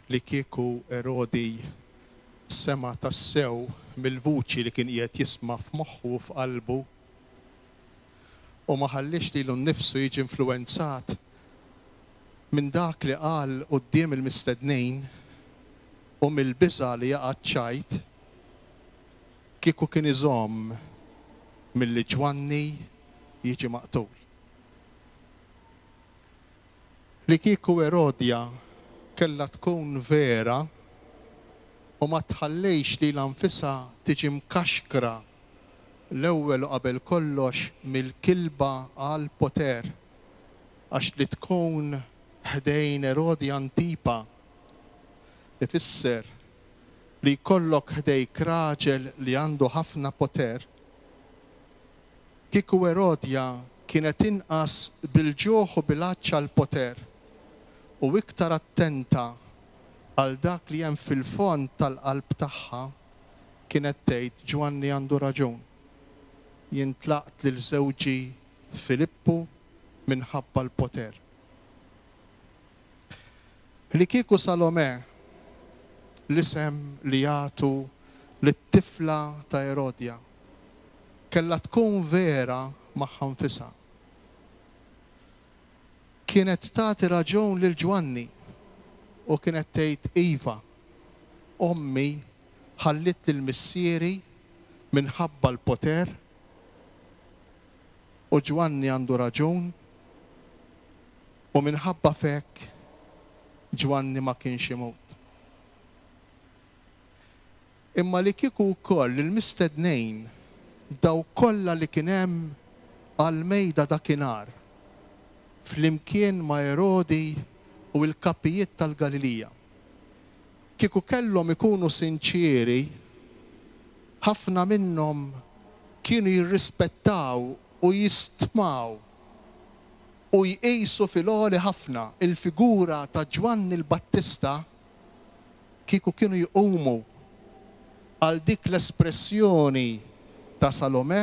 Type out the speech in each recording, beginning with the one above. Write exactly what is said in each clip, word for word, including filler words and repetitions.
Li kieku Erodi sema' tassew mill-vuċi li kien qiegħed jisma' f'moħħu u f'qalbu u ma ħalliex lilu nnifsu jiġi influwenzat minn dak li qal quddiem il-mistednin u mill-biża' li jaqa' ċ-ċajt, kieku kien iżomm milli Ġwanni jiġi maqtul. Li kieku Erodja kellha tkun vera u ma tħallix lilha nfisha tiġi mkaxkra l-ewwel u qabel kollox mill-kilba għall-poter, għax li tkun ħdejn Erodi Antipa ifisser li jkollok ħdejk raġel li għandu ħafna poter. Kieku Erodja kienet inqas bil-ġuħ u bil-għatx għall-poter u iktar attenta għal dak li hemm fil-fond tal-qalb tagħha, kienet tgħid Ġwanni għandu raġun. Jien tlaqt lil żewġi Filippu minħabba l-poter. Li kieku Salome, l-isem li jagħtu lit-tifla ta' Erodja, kellha tkun vera magħha nfisha, kienet tagħti raġun lil Ġwanni u kienet tgħid iva, ommi ħallit lil missieri minħabba l-poter u Ġwanni għandu raġun u minħabba fek Ġwanni ma kienx imut. Imma li kieku wkoll il-mistednejn daw kollha li kien hemm għal-mejda dakinhar flimkien ma' Erodi u l-kapijiet tal-Galilija, kieku kellhom ikunu sinċieri, ħafna minnhom kienu jirrispettaw u jistmaw u jqisu fil-għoli ħafna il-figura ta' Ġwanni l-Battista, kieku kienu jqumu għal dik l-espressjoni ta' Salome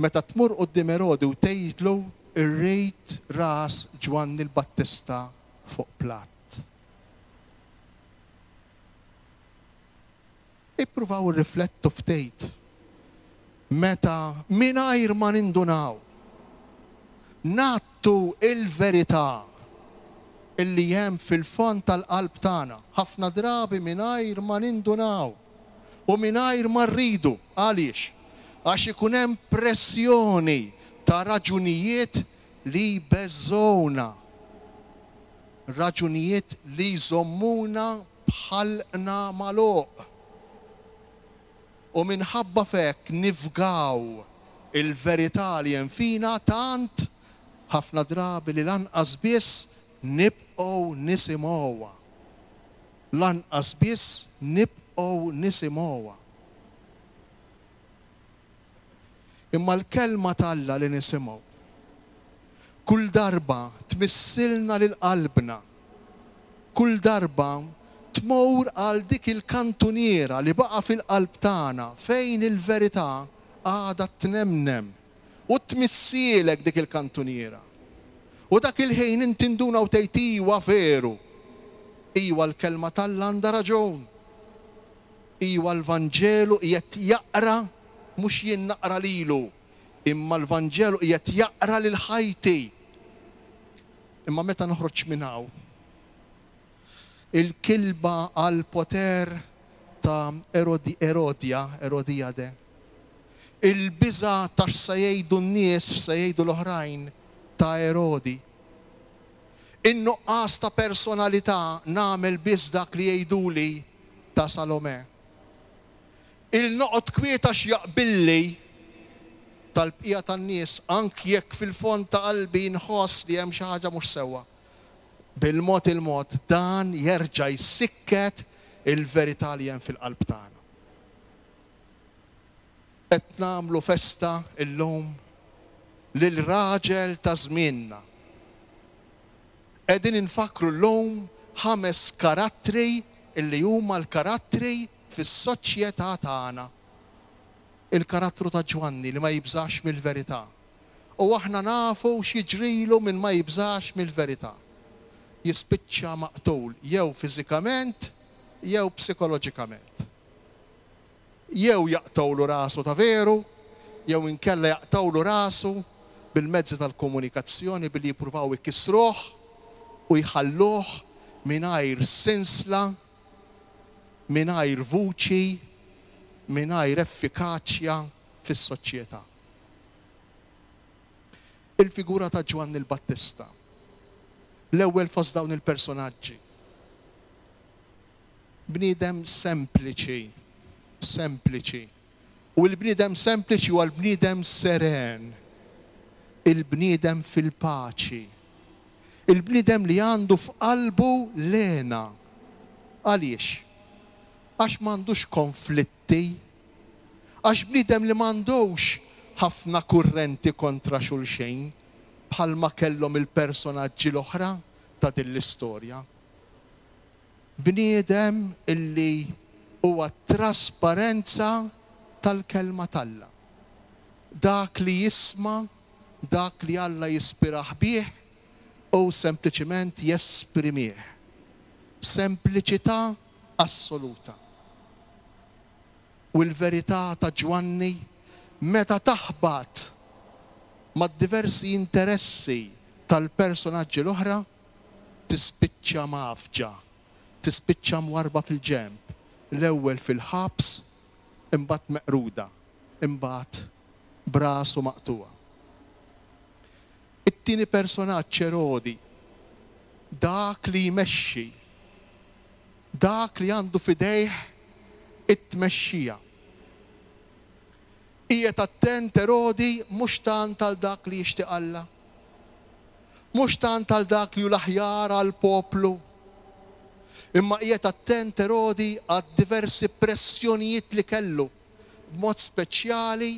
meta tmur quddiem Erodi u tgħidlu irrid ras Ġwanni l-Battista fuq platt. Ippruvaw irriflettu ftit meta mingħajr ma nindunaw nagħtu il-verità illi hemm fil-fond tal-qalb tagħna, ħafna drabi mingħajr ma nindunaw u mingħajr ma rridu. Għaliex? Għax ikun hemm pressjoni ta' raġunijiet li jbeżżgħuna, raġunijiet li jżommuna b'ħalqna magħluq. U minħabba f'hekk nifgaw il-verità li hemm fina tant ħafna drabi li lanqas biss nibqgħu nisimgħuha. Lanqas biss nibqgħu nisimgħuha. Imma l-kelma t'Alla li nisimgħu kull darba tmissilna lil qalbna, kull darba tmur għal dik il-kantuniera li baqa' fil-qalb tagħna fejn il-verità għadha tnemnem u tmissielek dik il-kantuniera. U dak il-ħin inti nduna u tgħid iwa veru, iwa l-kelma t'Alla għandha raġun, iwa l-Vanġelu qiegħed jaqra, mhux jien naqra lilu, imma l-Vanġelu qiegħed jaqra lil ħajti. Imma meta noħroġ minn hawn, il-kilba għal poter ta' Erodi, Erodja, Erodiade, il-biża' ta' x'se jgħidu n-nies, x'se jgħidu l-oħrajn ta' Erodi, in-nuqqas ta' personalità nagħmel biss dak li jgħiduli ta' Salome, il-noqgħod kwieta x'jaqbilli tal-bqija tan-nies, anki jekk fil-fond ta' qalbi nħoss li hemm xi ħaġa mhux sewwa. Bil-mod il-mod dan jerġa' jsikket il-verità li hemm fil-qalb tagħna. Qed nagħmlu festa llum lil raġel ta' żmienna. Qegħdin infakkru llum ħames karattri illi huma l-karattri fis-soċjetà tagħna. Il-karattru ta' Ġwanni li ma jibżax mill-verità. U aħna nafu x'jiġrilu min ma jibżax mill-verità. jispiċċa maqtul jew fiżikament jew psikoloġikament. Jew jaqtgħulu rasu ta' veru, jew inkella jaqtgħulu rasu bil-mezzi tal-komunikazzjoni billi jippruvaw ikissruh u jħalluh mingħajr sinsla, mingħajr vuċi, mingħajr effikaċja fis-soċjetà. Il-figura ta' Ġwanni l-Battista, l-ewwel fost dawn il-personaġġi. Bniedem sempliċi, sempliċi. U l-bniedem sempliċi huwa l-bniedem seren, il-bniedem fil-paċi, il-bniedem li għandu f'qalbu l-hena. Għaliex? Għax m'għandux konflitti, għax bniedem li m'għandux ħafna kurrenti kontra xulxejn bħalma kellhom il-personaġġi l-oħra ta' din l-istorja. Bniedem illi huwa trasparenza tal-kelma t'Alla. Dak li jisma', dak li Alla jispirah bih, u sempliċiment jesprimih. Sempliċità assoluta. U l-verità ta' Ġwanni meta taħbat ma' diversi interessi tal-personaġġi l-oħra, tispiċċa mafġa, tispiċċa mwarba fil-ġenb, l-ewwel fil-ħabs, imbagħad meqruda, imbagħad brasu maqtuwa. It-tieni personaġġ Erodi, dak li jmexxi, dak li għandu f'idejh it-tmexxija. Qiegħed attent Erodi mhux tant għal dak li jixtieq Alla, mhux tant għal dak li hu l-aħjar għall-poplu, imma qiegħed attent Erodi għad diversi pressjonijiet li kellu, b'mod speċjali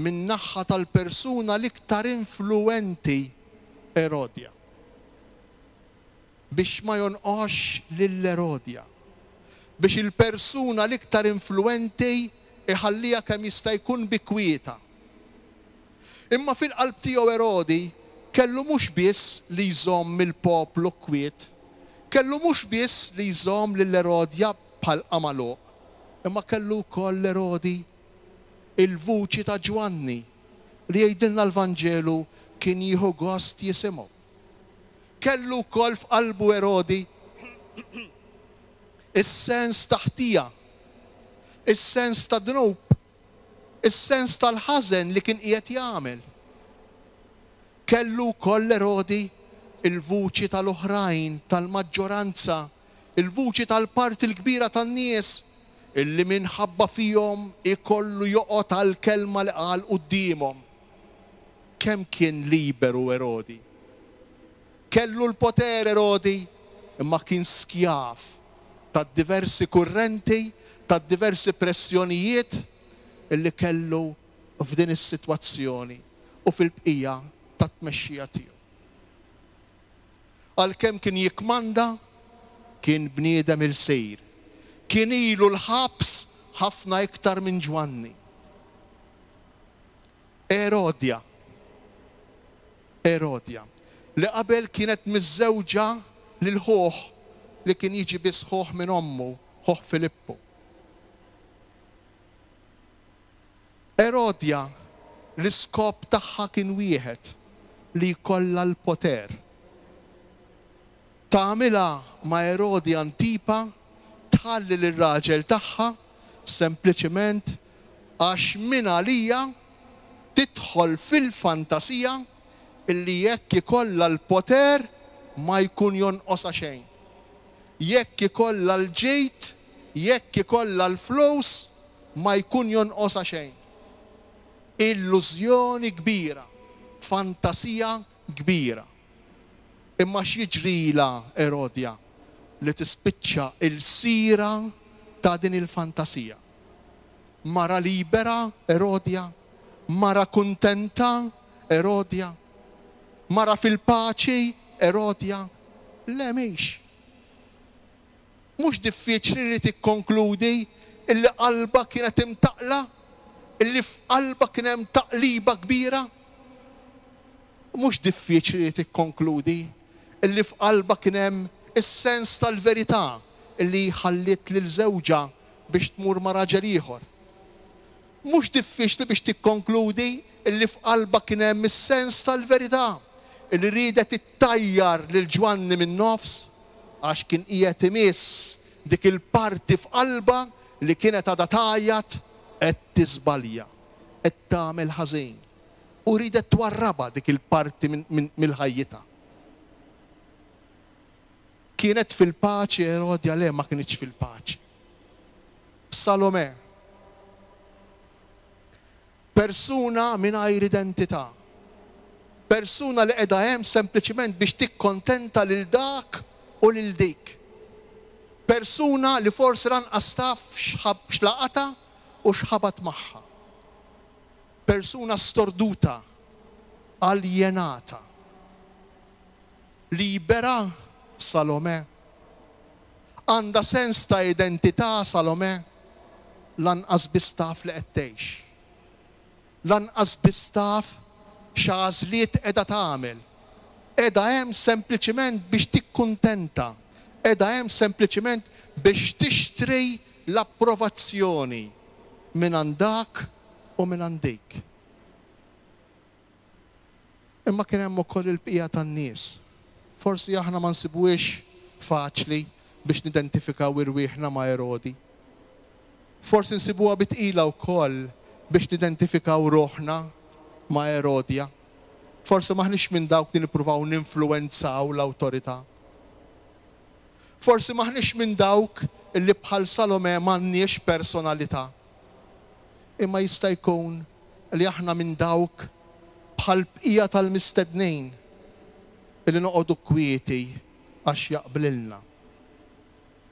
min-naħa tal-persuna l-iktar influenti, Erodja. Biex ma jonqox lil Erodja, biex il-persuna l-iktar influenti iħallija kemm jista' jkun bi kwieta. Imma fil-qalb tiegħu Erodi kellu mhux biss li jżomm il-poplu kwiet, kellu mhux biss li jżomm lil Erodja bħal qamaluq, imma kellu wkoll Erodi il-vuċi ta' Ġwanni li jgħidilna l-Vanġelu kien jieħu gost jisimgħu. Kellu wkoll f'qalbu Erodi is-sens ta' ħtija, is-sens ta' dnub, is-sens tal-ħażen li kien qiegħed jagħmel. Kellu wkoll Erodi il-vuċi tal-oħrajn, tal-maġġoranza, il-vuċi tal-parti l-kbira tan-nies illi minħabba fihom ikollu joqgħod għall-kelma li qal quddiemhom. Kemm kien liberu Erodi? Kellu l-poter Erodi, imma kien skjav ta' diversi kurrenti, ta' diversi pressjonijiet illi kellu f'din is-sitwazzjoni u fil-bqija ta' tmexxija tiegħu. Għalkemm kien jikmanda, kien bniedem il-sejr. Kien ilu l-ħabs ħafna iktar minn Ġwanni. Erodja. Erodja, li qabel kienet miżżewġa lil ħuh li kien jiġi biss ħuh minn ommu, ħuh Filippu. Erodja, l-iskop tagħha kien wieħed, li jkollha l-poter. Tagħmilha ma' Erodi Antipa, tħalli lir-raġel tagħha sempliċement għax minn għalija tidħol fil-fantasija illi jekk ikollha l-poter ma jkun jonqosha xejn. Jekk ikollha l-ġid, jekk ikollha l-flus, ma jkun jonqosha xejn. Illużjoni kbira, fantasija kbira. Imma x'jiġrilha Erodja li tispiċċa il-sira ta' din il-fantasija. Mara libera Erodja, mara kuntenta Erodja, mara fil-paċi Erodja, le mhix. Mhux diffiċli li tikkonkludi illi qalba kienet imtaqla, illi f'qalba kien hemm taqliba kbira. Mhux diffiċli li tikkonkludi illi f'qalbha kien hemm is-sens tal-verità illi ħalliet lil żewġha biex tmur ma' raġel ieħor. Mhux diffiċli biex tikkonkludi illi f'qalbha kien hemm is-sens tal-verità illi riedet ittajjar lil Ġwanni min-nofs għax kien qiegħed imiss dik il-parti f'qalbha li kienet għadha tgħajjat qed tiżbalja, qed tagħmel ħażin. U riedet twarrabha dik il-parti mill-ħajjitha. Kienet fil-paċi Erodja? Le, ma kinitx fil-paċi. Salome, persuna mingħajr identità, persuna li qiegħda hemm sempliċiment biex tikkontenta lil dak u lil dik. Persuna li forsi lanqas taf x'laqatha u x'ħabat magħha. Persuna storduta, aljenata. Libera Salome? Għandha sens ta' identità Salome? Lanqas biss taf li qed tgħix. Lanqas biss taf x'għażliet qiegħda tagħmel. Qiegħda hemm sempliċiment biex tikkuntenta. Qiegħda hemm sempliċiment biex tixtri l-approvazzjoni minn għand dak u minn għand dik. Imma kien hemm ukoll il-bqija tan-nies. Forsi aħna ma nsibuhiex faċli biex nidentifikaw irwieħna ma' Erodi. Forsi nsibuha bi tqila wkoll biex nidentifikaw ruħna ma' Erodja. Forsi maħniex minn dawk li nippruvaw ninfluwenzaw l-awtorità. Forsi maħniex minn dawk li bħal Salome m'għandniex personalità. Imma jista' jkun li aħna minn dawk bħal bqija tal-mistednin li noqogħdu kwieti għax jaqblilna.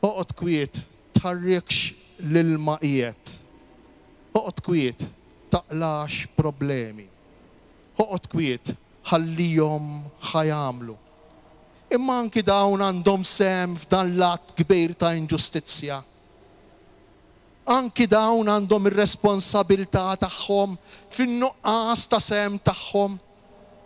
Oqgħod kwiet, tħarrikx l-ilma qiegħed. Oqgħod kwiet, taqlax problemi. Oqgħod kwiet, ħallihom ħa jagħmlu. Imma anki dawn għandhom sehem f'dan l-att kbir ta' inġustizzja. Anki dawn għandhom ir-responsabilità tagħhom fin-nuqqas ta' sehem tagħhom,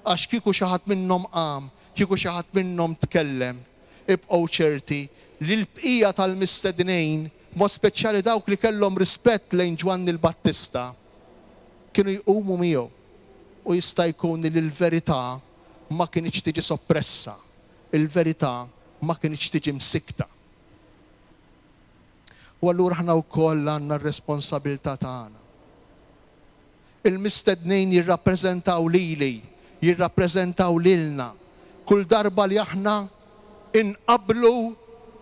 għax kieku xi ħadd minnhom qam, kieku xi ħadd minnhom tkellem, ibqgħu ċerti li l-bqija tal-mistednin, mod speċjali dawk li kellhom rispett lejn Ġwanni l-Battista, kienu jqumu miegħu. U jista' jkun li l-verità ma kinitx tiġi soppressa, il-verità ma kinitx tiġi msikta. U allura aħna wkoll għandna r-responsabilità tagħna. Il-mistednin jirrappreżentaw lili, jirrappreżentaw lilna. Kull darba li aħna inqablu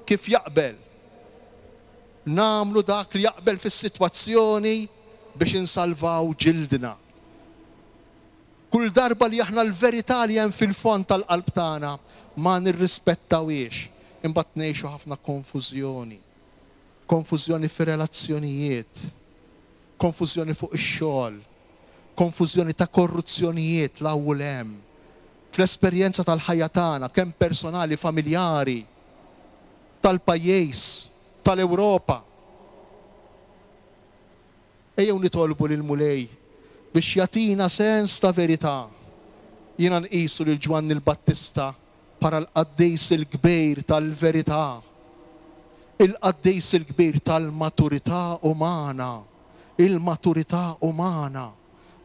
kif jaqbel. Nagħmlu dak li jaqbel fis-sitwazzjoni biex insalvaw ġildna. Kull darba li aħna l-verità li hemm fil-fond tal-qalb tagħna ma nirrispettawhiex, imbagħad ngħixu ħafna konfużjoni. Konfużjoni fir-relazzjonijiet, konfużjoni fuq ix-xogħol, konfużjoni ta' korruzzjonijiet 'l hawn u 'l hemm. Fl-esperjenza tal-ħajja tagħna, kemm personali, familjari, tal-pajjiż, tal-Ewropa. Ejjew nitolbu lill-Mulej biex jagħtina sens ta' verità. Jiena nqisu lil Ġwanni l-Battista bħala l-qaddis il-kbir tal-verità, il-qaddis il-kbir tal-maturità umana, il-maturità umana.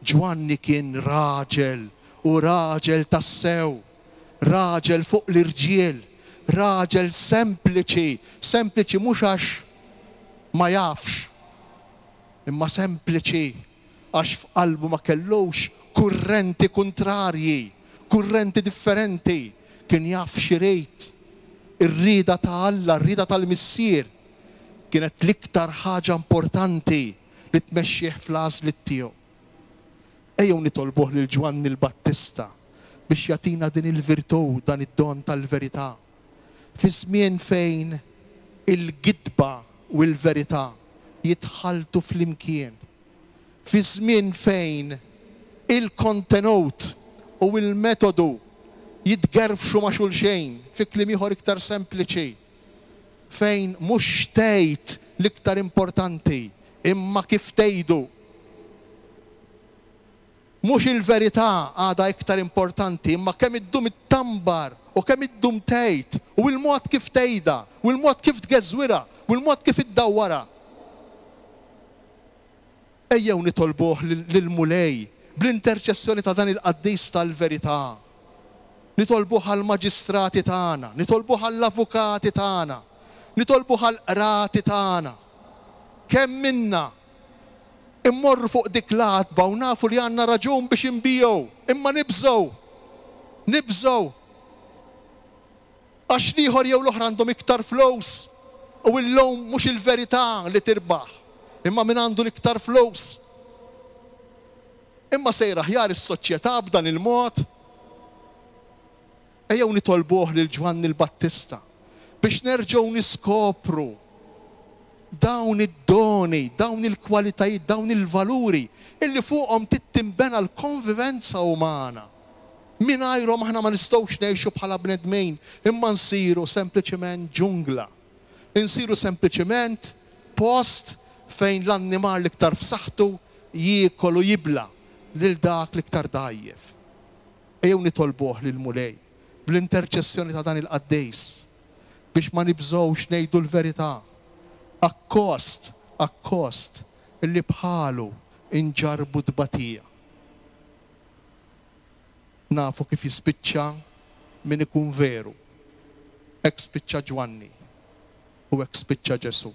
Ġwanni kien raġel u raġel tassew, raġel fuq l-irġiel, raġel sempliċi, sempliċi mhux għax ma jafx, imma sempliċi għax f'qalbu ma kellux kurrenti kontrarji, kurrenti differenti, kien jaf x'irid. Ir-rieda ta' Alla, ir-rieda tal-Missier, kienet l-iktar ħaġa importanti li tmexxih fl-għażliet tiegħu. Ejjew nitolbuh lil Ġwanni l-Battista biex jagħtina din il-virtù, dan id-don tal-verità. Fi żmien fejn il-gidba u l-verità jitħaltu flimkien. Fi żmien fejn il-kontenut u il-metodu jitgerfxu ma' xulxejn, fi kliem ieħor iktar sempliċi, fejn mhux tgħid l-iktar importanti, imma kif tgħidu. Mhux il-verità għadha iktar importanti, imma kemm iddum ittambar u kemm iddum tgħid u l-mod kif tgħidha u l-mod kif tgeżwirha u l-mod kif iddawwarha. Ejjew nitolbuh lill-Mulej bl-interċessjoni ta' dan il-qaddis tal-verità. Nitolbuh għall-maġistrati tagħna, nitolbuh għall-avukati tagħna, nitolbuh għall-qrati tagħna. Kemm minna immorru fuq dik l-għatba u nafu li għandna raġun biex inbigħu, imma nibżgħu. Nibżgħu. Għax l-ieħor jew l-oħra għandhom iktar flus u illum mhux il-verità li tirbaħ, imma min għandu l-iktar flus. Imma sejra aħjar is-soċjetà b'dan il-mod. Ejjew nitolbuh lil Ġwanni l-Battista biex nerġgħu niskopru dawn id-doni, dawn il-kwalitajiet, dawn il-valuri illi fuqhom tinbena l-konvivenza umana. Mingħajrhom aħna ma nistgħux ngħixu bħala bnedmin, imma nsiru sempliċement ġungla. Insiru sempliċement post fejn l-annimal l-iktar f'saħħtu jiekol u jibla' lil dak l-iktar dgħajjef. Ejjew nitolbuh lill-Mulej bl-interċessjoni ta' dan il-qaddis biex ma nibżgħux ngħidu l-verità. Akkost, akkost illi bħalu inġarbu tbatija. Nafu kif jispiċċa min ikun veru. Hekk spiċċa Ġwanni u hekk spiċċa Ġesù.